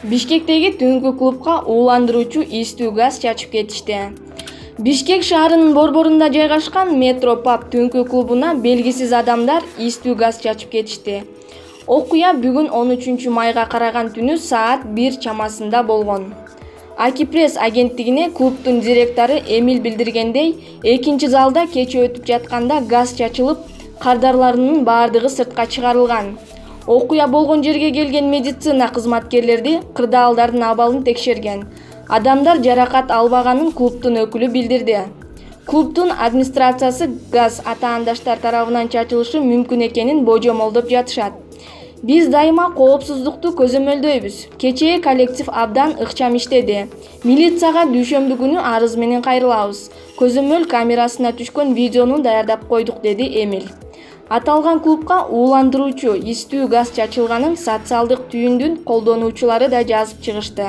Бишкектеги түнкү клубка ууландыруучу ийстүү газ чачып кетишти. Бишкек шаарынын борборунда жайгашкан Метро Pub түнкү клубуна белгисиз адамдар ийстүү газ чачып кетишти. Окуя бүгүн 13 майга караган түнү саат 1 чамасында болгон. Акипресс агенттигине клубдун директору Эмиль билдиргендей, экинчи залда кече өтүп жатканда газ чачылып, кардарларынын бардыгы сыртка чыгарылган. Окуя болгон жерге келген медицина кызматкерлери кырдаалдардын абалын текшерген. Адамдар жаракат албаганын клубдун өкүлү билдирди. Клубдун администрациясы газ атаандаштар тарабынан чачылышы мүмкүн экенин божомолдоп жатышат. Биз дайыма коопсуздукту көзөмөлдөйбүз. Кечээ коллектив абдан ыкчам иштеди. Милицияга дүйшөмбү күнү арыз менен кайрылабыз. Көзөмөл камерасына түшкөн видеону даярдап койдук, деди Эмиль. Аталган клубка ууландыруучу ийстүү газ чачылганын социалдык түйүндүн колдонуучулары да жазып чыгышты.